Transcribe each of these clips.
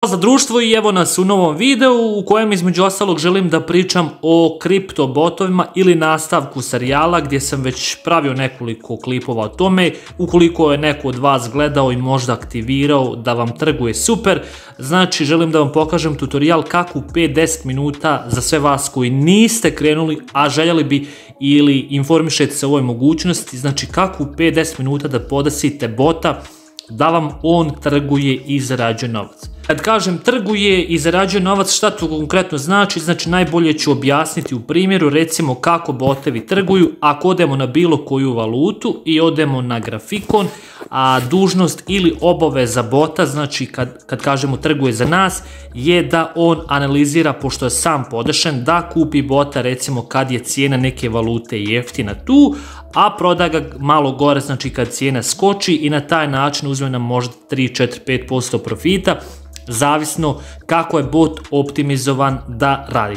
Za društvo i evo nas u novom videu u kojem između ostalog želim da pričam o kripto botovima ili nastavku serijala gdje sam već pravio nekoliko klipova o tome. Ukoliko je neko od vas gledao i možda aktivirao da vam trguje super, znači želim da vam pokažem tutorial kako u 5-10 minuta za sve vas koji niste krenuli, a željeli bi ili informišete se o ovoj mogućnosti, znači kako u 5-10 minuta da podesite bota da vam on trguje i zarađuje novac. Kad kažem trguje i zarađuje novac, šta to konkretno znači? Znači najbolje ću objasniti u primjeru, recimo kako botevi trguju. Ako odemo na bilo koju valutu i odemo na grafikon, a dužnost ili obaveza bota, znači kad kažemo trguje za nas, je da on analizira, pošto je sam podešen, da kupi bota recimo kad je cijena neke valute jeftina tu, a proda ga malo gore, znači kad cijena skoči, i na taj način uzme nam možda 3, 4, 5% profita, zavisno kako je bot optimizovan da radi.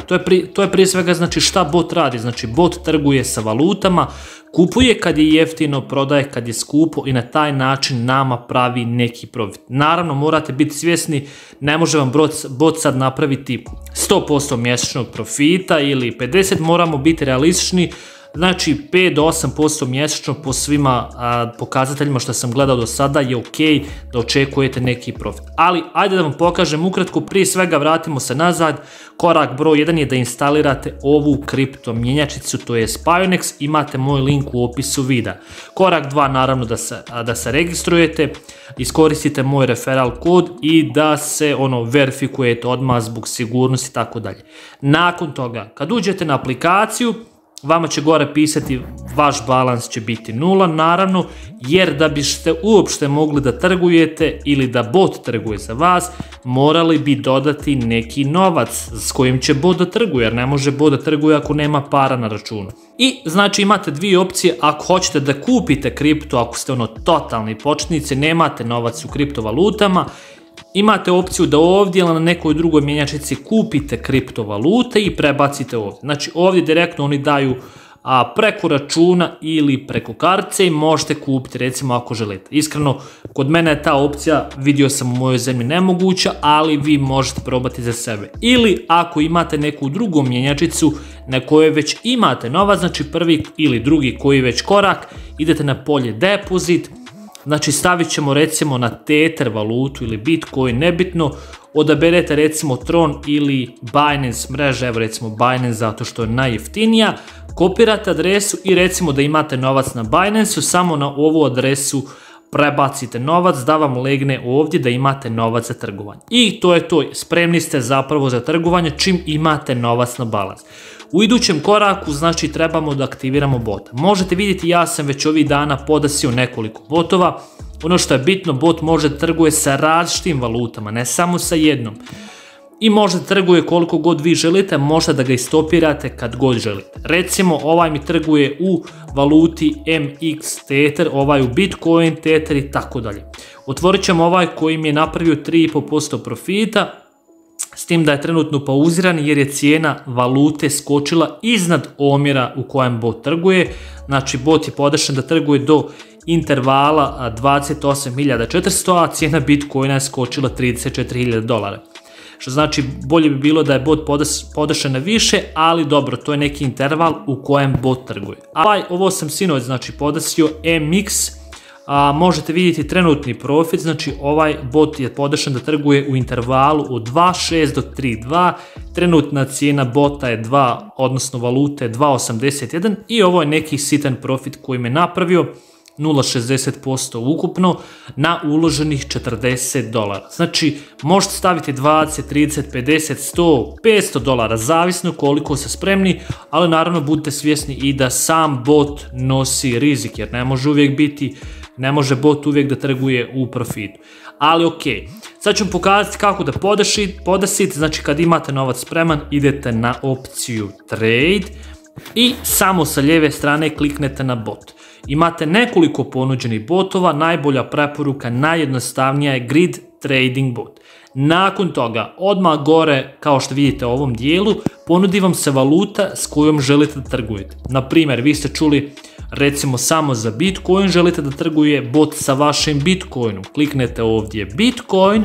To je prije svega znači šta bot radi, znači bot trguje sa valutama, kupuje kad je jeftino, prodaje kad je skupo i na taj način nama pravi neki profit. Naravno morate biti svjesni, ne može vam bot sad napraviti 100% mjesečnog profita ili 50%, moramo biti realistični. Znači 5 do 8% mjesečno po svima pokazateljima što sam gledao do sada je ok da očekujete neki profit. Ali ajde da vam pokažem ukratko, prije svega vratimo se nazad. Korak broj 1 je da instalirate ovu kripto mjenjačnicu, to je Pionex, imate moj link u opisu videa. Korak 2 naravno da se registrujete, iskoristite moj referral kod i da se verifikujete odmah zbog sigurnosti i tako dalje. Nakon toga kad uđete na aplikaciju, vama će gore pisati vaš balans će biti 0, naravno, jer da biste uopšte mogli da trgujete ili da bot trguje za vas, morali bi dodati neki novac s kojim će bot da trguje, jer ne može bot da trguje ako nema para na računu. I znači imate dvije opcije, ako hoćete da kupite kripto, ako ste totalni početnici, nemate novac u kriptovalutama, imate opciju da ovdje ili na nekoj drugoj mjenjačnici kupite kriptovalute i prebacite ovdje. Znači ovdje direktno oni daju preko računa ili preko kartice i možete kupiti recimo ako želite. Iskreno, kod mene je ta opcija, vidio sam u mojoj zemlji, nemoguća, ali vi možete probati za sebe. Ili ako imate neku drugu mjenjačnicu na kojoj već imate novac, znači prvi ili drugi koji već korak, idete na polje depozit. Znači stavit ćemo recimo na Tether valutu ili Bitcoin, nebitno, odaberete recimo Tron ili Binance mreže, evo recimo Binance zato što je najjeftinija, kopirate adresu i recimo da imate novac na Binance-u, samo na ovu adresu prebacite novac da vam legne ovdje da imate novac za trgovanje. I to je to, spremni ste zapravo za trgovanje čim imate novac na balans. U idućem koraku znači trebamo da aktiviramo bota. Možete vidjeti, ja sam već ovih dana podasio nekoliko botova. Ono što je bitno, bot može da trguje sa različitim valutama, ne samo sa jednom. I može da trguje koliko god vi želite, možete da ga istopirate kad god želite. Recimo ovaj mi trguje u valuti MX Tether, ovaj u Bitcoin Tether i tako dalje. Otvorit ćemo ovaj koji mi je napravio 3,5% profita, s tim da je trenutno pauziran jer je cijena valute skočila iznad omjera u kojem bot trguje. Znači bot je podešen da trguje do intervala 28.400, a cijena Bitcoina je skočila $34.000. Što znači bolje bi bilo da je bot podešen na više, ali dobro, to je neki interval u kojem bot trguje. Ovo sam sinoć znači podesio MX, možete vidjeti trenutni profit, znači ovaj bot je podešen da trguje u intervalu od 2.6 do 3.2, trenutna cijena bota je 2, odnosno valute 2.81 i ovo je neki sitan profit koji me napravio 0,60% ukupno na uloženih $40. Znači možete staviti 20, 30, 50, 100, $500, zavisno koliko ste spremni, ali naravno budite svjesni i da sam bot nosi rizik, jer ne može bot uvijek da trguje u profitu. Ali ok, sad ću vam pokazati kako da podesite, znači kad imate novac spreman idete na opciju Trade i samo sa lijeve strane kliknete na bot. Imate nekoliko ponuđenih botova, najbolja preporuka, najjednostavnija je Grid Trading bot. Nakon toga, odmah gore, kao što vidite u ovom dijelu, ponudi vam se valuta s kojom želite da trgujete. Na primjer, vi ste čuli recimo samo za Bitcoin, želite da trguje bot sa vašim Bitcoinom. Kliknete ovdje Bitcoin,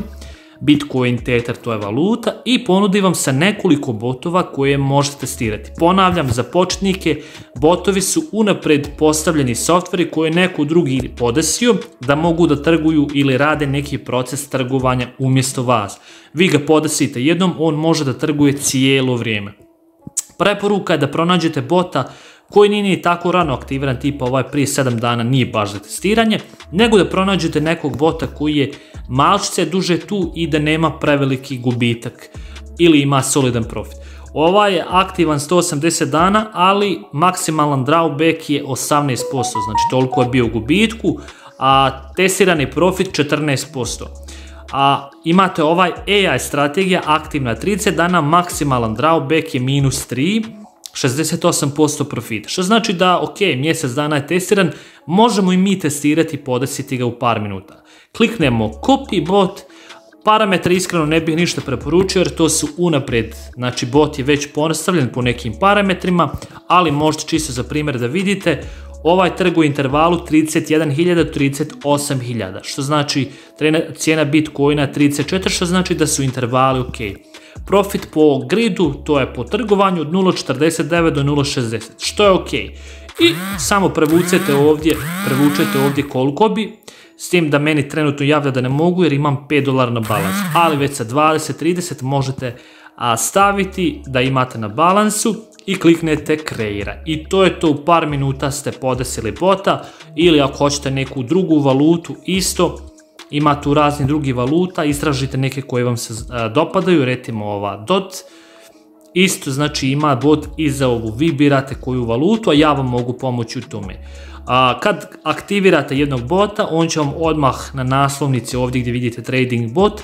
Bitcoin, Tether, to je valuta, i ponudi vam se nekoliko botova koje možete testirati. Ponavljam, za početnike botovi su unapred postavljeni softveri koje je neko drugi podesio da mogu da trguju ili rade neki proces trgovanja umjesto vas. Vi ga podesite jednom, on može da trguje cijelo vrijeme. Preporuka je da pronađete bota koji nije ni tako rano aktiviran, tipa ovaj prije 7 dana nije baš za testiranje, nego da pronađete nekog bota koji je malčice duže tu i da nema preveliki gubitak ili ima solidan profit. Ovaj je aktivan 180 dana, ali maksimalan drawback je 18%, znači toliko je bio u gubitku, a testirani profit 14%. A imate ovaj AI strategija aktivna 30 dana, maksimalan drawback je -3, 68% profita. Što znači da, ok, mjesec dana je testiran, možemo i mi testirati i podesiti ga u par minuta. Kliknemo copy bot, parametre iskreno ne bih ništa preporučio jer to su unaprijed, znači bot je već postavljen po nekim parametrima, ali možete čisto za primjer da vidite, ovaj trguje u intervalu 31.000 do 38.000, što znači cijena Bitcoina 34, što znači da su intervali ok. Profit po gridu, to je po trgovanju od 0.49 do 0.60, što je ok. I samo prevučete ovdje koliko bi, s tim da meni trenutno javlja da ne mogu jer imam $5 na balans, ali već sa 20-30 možete staviti da imate na balansu i kliknete kreira. I to je to, u par minuta ste podesili bota, ili ako hoćete neku drugu valutu isto, ima tu razni drugi valuta, istražite neke koje vam se dopadaju, recimo ova DOT, isto znači ima bot i za ovu, vi birate koju valutu, a ja vam mogu pomoći u tome. Kad aktivirate jednog bota, on će vam odmah na naslovnici ovdje gdje vidite trading bot,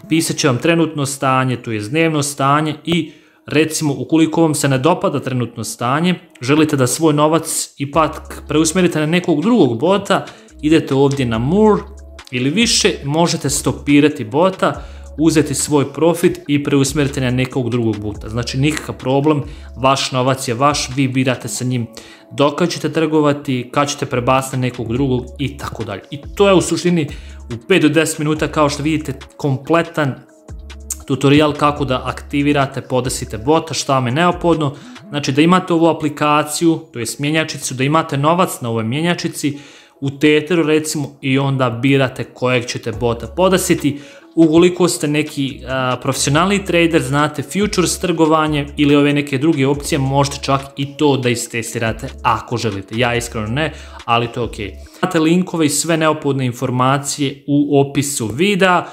pisat će vam trenutno stanje, to je dnevno stanje, i recimo ukoliko vam se ne dopada trenutno stanje, želite da svoj novac ipak preusmjerite na nekog drugog bota, idete ovdje na more ili više, možete stopirati bota, uzeti svoj profit i preusmjeriti na nekog drugog bota. Znači nikakav problem, vaš novac je vaš, vi birate sa njim dok ćete trgovati, kad ćete prebaciti na nekog drugog i tako dalje. I to je u suštini u 5 do 10 minuta, kao što vidite, kompletan tutorial kako da aktivirate, podesite bota, šta vam je neophodno. Znači da imate ovu aplikaciju, to je mjenjačicu, da imate novac na ovoj mjenjačici, u Tetheru recimo, i onda birate kojeg ćete bota podesiti. Ukoliko ste neki profesionalni trader, znate futures trgovanje ili ove neke druge opcije, možete čak i to da istestirate ako želite. Ja iskreno ne, ali to je ok. Imate linkove i sve neophodne informacije u opisu videa.